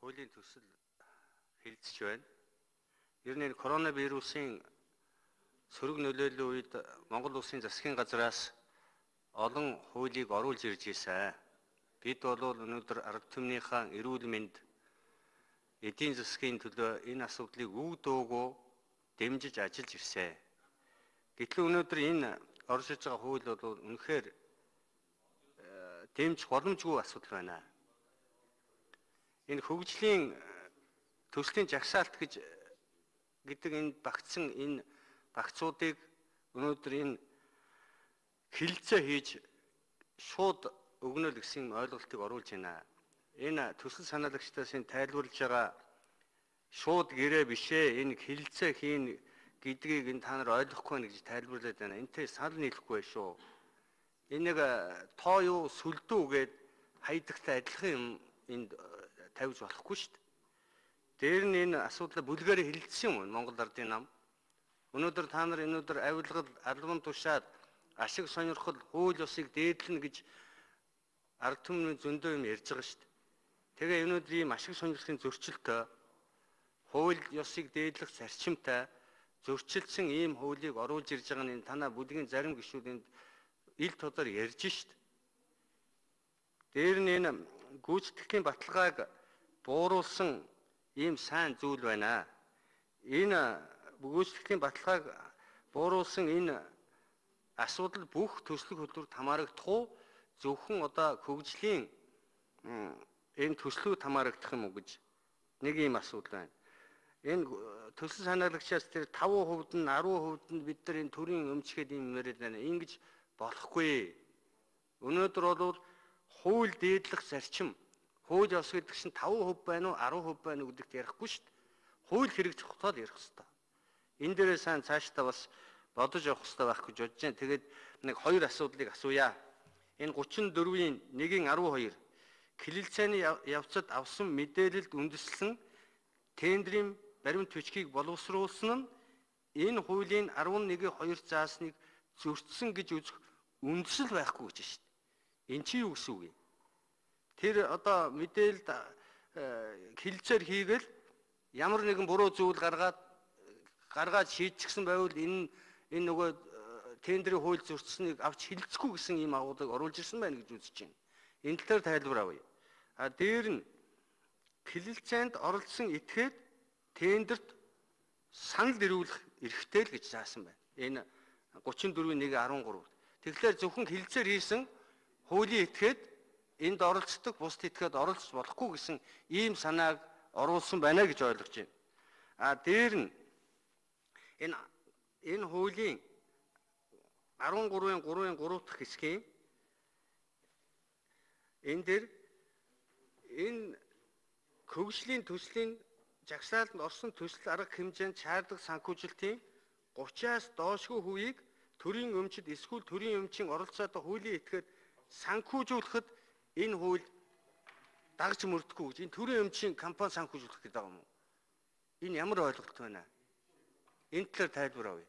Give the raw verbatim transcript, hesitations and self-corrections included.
хуулийн төсөл хэлэлцэж байна. Ер нь энэ коронавирусын сөрөг нөлөөллийн үед Монгол Улсын засгийн газраас олон хуулийг оруулж ирж ирсэн. Бид бол өнөөдөр арга түмнийхээ эрүүл мэнд, эдийн засгийн төлөө энэ асуудлыг үг дуугүй дэмжиж ажиллаж ирсэн. Гэтэл өнөөдөр энэ орж иж байгаа хууль бол үнэхээр дэмжих боломжгүй асуудал байна. Энэ хөгжлийн төслийн жагсаалт гэж гэдэг энэ багцсан энэ багцуудыг өнөөдөр энэ хилцээ хийж шууд өгнөл гэсэн ойлголтыг оруулж байна. Энэ төсөл санаалагчдаас энэ тайлбарлаж байгаа шууд гэрээ бишээ энэ хилцээ хийн гэдгийг энэ та нар ойлгохгүй байна гэж тайлбарлаад байна. Энтэй санал нийлэхгүй шүү. Энэ нэг тоо юу сүлдүү гээд хайдагтай адилхан юм энд тавьж болохгүй шүү дээ. Дээр нь энэ асуудлаа бүлгээр хэлэлцсэн юм Монгол Ардын нам. Өнөөдөр та нар өнөөдөр авилгал, албан тушаад, ашиг сонирхол, хууль ёсыг дээдлэнэ гэж ард түмний зөндөө юм ярьж байгаа шүү дээ. Тэгээ өнөөдөр ийм ашиг сонирхлын зөрчилтэй, хууль ёсыг дээдлэх зарчимтай зөрчилдсөн ийм хуулийг оруулж ирж байгаа нь танаа бүлгийн зарим гишүүд энд ил тодор ярьж шүү дээ. Дээр нь энэ гүйцэтгэлийн баталгааг бууруулсан ийм сайн зүйл байна. Энэ гүйцэтгэлийн баталгааг бууруулсан энэ асуудал бүх төслөх хөтөлбөрт хамаарагдах уу? Зөвхөн одоо хөгжлийн энэ төслүүд хамаарагдах юм уу гэж нэг ийм асуудал байна. Энэ төсөл санаалагчаас тэр таван хувьд нь арван хувьд нь бид нар энэ төрийн өмчгээд юм яриад байна. Ингэж болохгүй. Өнөөдөр бол хууль дээдлэх зарчим, хууль ёс гэдэг чинь таван хувь байна уу, арван хувь байна уу гэдэгт ярихгүй шүү дээ. Хууль хэрэгжих хотод ярих хэрэгтэй. Энэ дээрээ сайн цаашдаа бас бодож явах хэрэгтэй байх гэж бодож байна. Тэгээд нэг хоёр асуудлыг асууя. Энэ гучин дөрвийн нэгin арван хоёр Кириллицаны явцад авсан мэдээлэлд үндэслэн тендерийн баримт бичгийг боловсруулсан нь энэ хуулийн арван нэгin хоёр заасныг зөрчсөн гэж үзэх үндэслэл байхгүй гэж шүү дээ. Энд чи юу гэсэн үг юм? Тэр одоо мэдээлэлд хилцээр хийгээл ямар нэгэн буруу зүйл гаргаад гаргаад шийдчихсэн байвал энэ энэ нөгөө тендерийн хууль зөрчсөнийг авч хилцэхгүй гэсэн ийм агуулгыг оруулж ирсэн байна гэж үзэж байна. Энэ талаар тайлбар авъя. А дээр нь Кириллицанд оролцсон этгээд тендерт санал ирүүлэх эрхтэй л гэж заасан байна. Энэ гучин дөрвийн нэг арван гурав. Тэгэхээр зөвхөн хилцээр хийсэн хуулийн этгээд энд оролцдог бусд этгээд оролцож болохгүй гэсэн ийм санааг оруулсан байна гэж ойлгож байна. А дээр нь энэ энэ хуулийн арван гурвын гурвын гурав дахь хэсгийн энэ дээр энэ хөгжлийн төслийн жагсаалтанд орсон төсөл арга хэмжээнд чаардаг санхүүжилтийн гучаас доошгүй хувийг төрийн өмчид эсвэл төрийн өмчийн оролцоотой хуулийн этгээд санхүүжүүлэхэд энэ хууль дагж мөрдөхгүй гэж энэ төрийн өмчийн компани санхүүжүүлэх гэдэг юм уу? Энэ ямар ойлголт байна? Энэ талаар тайлбар авъя.